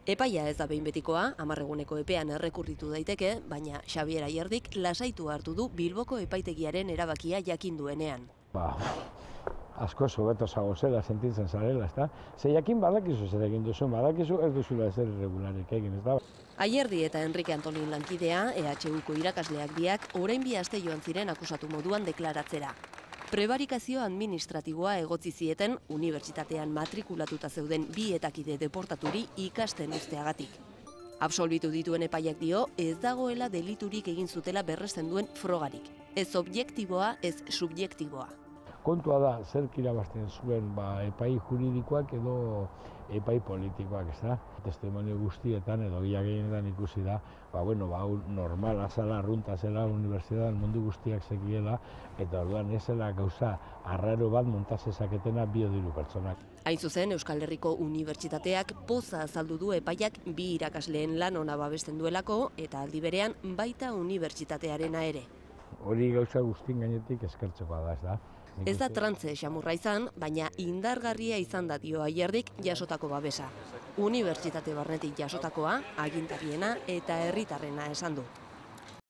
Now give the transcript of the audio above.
Epaia ez da behin betikoa, 10 eguneko epean errekurritu daiteke, baina Xabier Ayerdik lasaitu hartu du Bilboko epaitegiaren erabakia jakin duenean. Asko hobeto zagozela sentitzen zarela, ezta? Ze jakin badakizu zer egin duzu, badakizu ez duzula ezer irregularik egin, ez da? Ayerdi eta Enrique Antolin lankidea, EHUko irakasleak biak, orain 2 aste joan ziren akusatu moduan deklaratzera. Prebarikazio administratiboa egotzi zieten, unibertsitatean matrikulatuta zeuden 2 etakide deportaturi ikasten uzteagatik. Absolbitu dituen epaiak dio, ez dagoela deliturik egin zutela berresten duen frogarik. Ez objektiboa, ez subjektiboa. Kontua da, zerk irabazten zuen epai juridikoak edo epai politikoak, ez da? Testimonio guztietan edo gila gehienetan ikusi da, normala zela, arrunta zela, unibertsitatean mundu guztiak zekiela, eta orduan ez zela gauza arraro bat montazezaketena biodiru pertsonak. Hain zuzen, Euskal Herriko Unibertsitateak poza azaldu du epaiak 2 irakasleen lan ona babesten duelako, eta aldi berean baita unibertsitatearena ere. Hori gauza guztien gainetik eskertzekoa da, ez da? Ez da trantze xamurra izan, baina indargarria izan da dio Ayerdik jasotako babesa. Unibertsitate barnetik jasotakoa, agintariena eta herritarrena esan du.